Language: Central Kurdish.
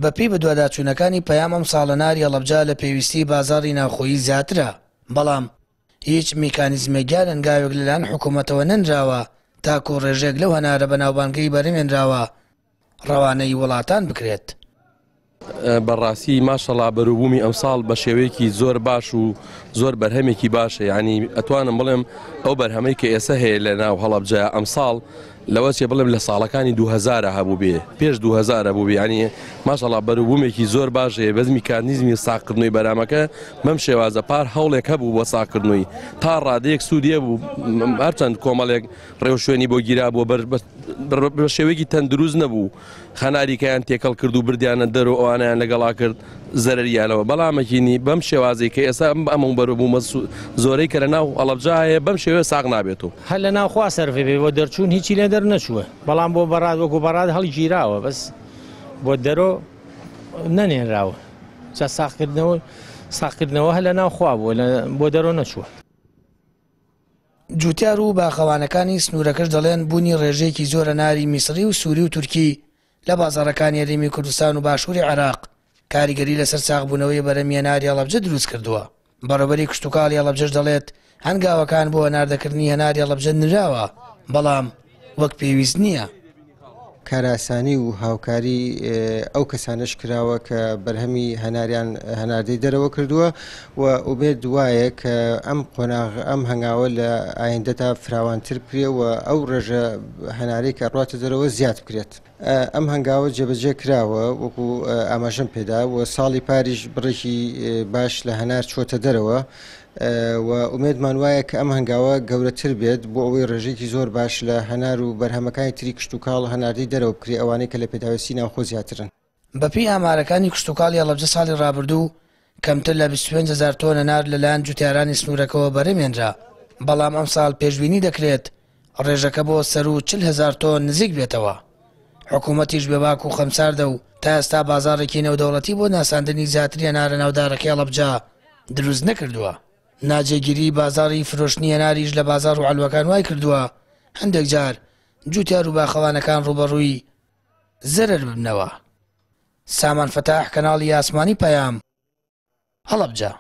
بەپێی بەدواداچوونەکانی پەیام ئەمساڵ هەناری هەڵەبجە لە پێویستیی بازاڕی ناوخۆیی زیاترە، بەڵام هیچ میکانیزمێک یان هەنگاوێک لەلایەن حکوومەتەوە نەنراوە تاکوو ڕێژەیەک لەو هەنارە بەناوبانگەی بەرهەمێنراوە ڕەوانەی وڵاتان بکرێت. بەڕاستی ماشەڵا بەروبوومی ئەمساڵ بە شێوەیەکی زۆر باش و زۆر بەرهەمێکی باشە یعنی ئەتوانم بڵێم ئەو بەرهەمەی کە ئێستا هەیە لە ناو هەڵەبجە ئەمساڵ لەوە چێ بڵێم لە ساڵەکانی 2000 هەبوو بێ پێش 2000 هەبوو بێ یعنی ماشەڵا بەروبوومێکی زۆر باش هەیە بەس میکانیزمی ساغکردنەوەی بەرامەکە بەم شێوازە پار هەوڵێک هەبوو بۆ ساغکردنەوەی تا ڕادەیەک سوودی هەبوو هەرچەند کۆمەڵێک ڕێوشوێنی بۆ گیرا بووە بەر بە شێوەیەکی تەندروست نەبوو خەناریکەیان تێکەڵ کرد و بردیانە دەر و ئەوانیان لەگەڵا کرد زەرەریانەوە بەڵامەکینی بەم شێوازی کە ئێستا ئەم ئەمە بەرەبوومە زۆرەی کە لە ناو هەڵەبجە هەیە بەم شێوەیە ساغ نابێت و هەر لە ناو خوا سەرفی بێ بۆ دەرچوون هیچی لێ دەرنەچووە بەڵام بۆ بەڕاد وەکو بەڕاد هەڵگیراوە بەس بۆ دەرۆ نەنێنراوە جا ساغکردنەوە ساغکردنەوە هەر لە ناو خوا بووە بۆ دەرۆ نەچووە. جوتیار و باخەوانەکانی سنوورەکەش دەڵێن بوونی ڕێژەیەکی زۆر هەناری میسڕی و سووری و تورکی لە بازاڕەکانی هەرێمی کوردستان و باشووری عێراق کاریگەری لەسەر ساغبوونەوەی بەرهەمی هەناری هەڵەبجە دروستکردووە. بەڕێوەبەری کشتوکاڵی هەڵەبجەش دەڵێت، هەنگاوەکان بۆ هەناردەکردنی هەناری هەڵەبجە نراوە، بەڵام وەک پێویست نییە. کارئاسانی و هاوکاری ئەو کەسانەش کراوە کە بەرهەمی هەناریان هەناردەی دەرەوە کردووە و ئومێد وایە کە ئەم قۆناغ ئەم هەنگاوە لە ئایندەدا فراوانتر بکرێ و ئەو ڕێژە هەنارەی کە ڕاتە دەرەوە زیاد بکرێت. ئەم هەنگاوە جێبەجێ کراوە وەکو ئاماژەم پێدا و ساڵی پاریش بڕێکی باش لە هەنار چووەتە دەرەوە و ئومێدمان وایە کە ئەم هەنگاوە گەورەتر بێت بۆ ئەوەی ڕێژەیەکی زۆر باش لە هەنار و بەرهەمەکانی تری کشتوکاڵ هەناردەی دەرەوە بکرێت ئەوانەی کە لە پێداویستی ناوخۆ زیاترن. بەپێی ئامارەکانی کشتوکاڵی هەڵەبجە ساڵی ڕابردوو کەمتر لە 25 هەزار تۆن هەنار لەلایەن جوتیارانی سنوورەکەوە بەرهەمهێنرا، بەڵام ئەمساڵ پێشبینی دەکرێت ڕێژەکە بۆ سەروو 40 هەزار تۆن نزیک بێتەوە. حکوومەتیش بێباک و خەمساردە و تا ئێستا بازاڕێکی نێودەوڵەتی بۆ ناساندنی زیاتری هەنارە ناودارەکەی هەڵەبجە دروست نەکردووە. ناجێگیریی بازاڕی فرۆشتنی هەناریش لە بازاڕ و عەلوەکان وایکردووە هەندێک جار جووتیار و باخەوانەکان ڕووبەڕووی زەرەر ببنەوە. سامان فەتاح، کەناڵی ئاسمانی پەیام، هەڵەبجە.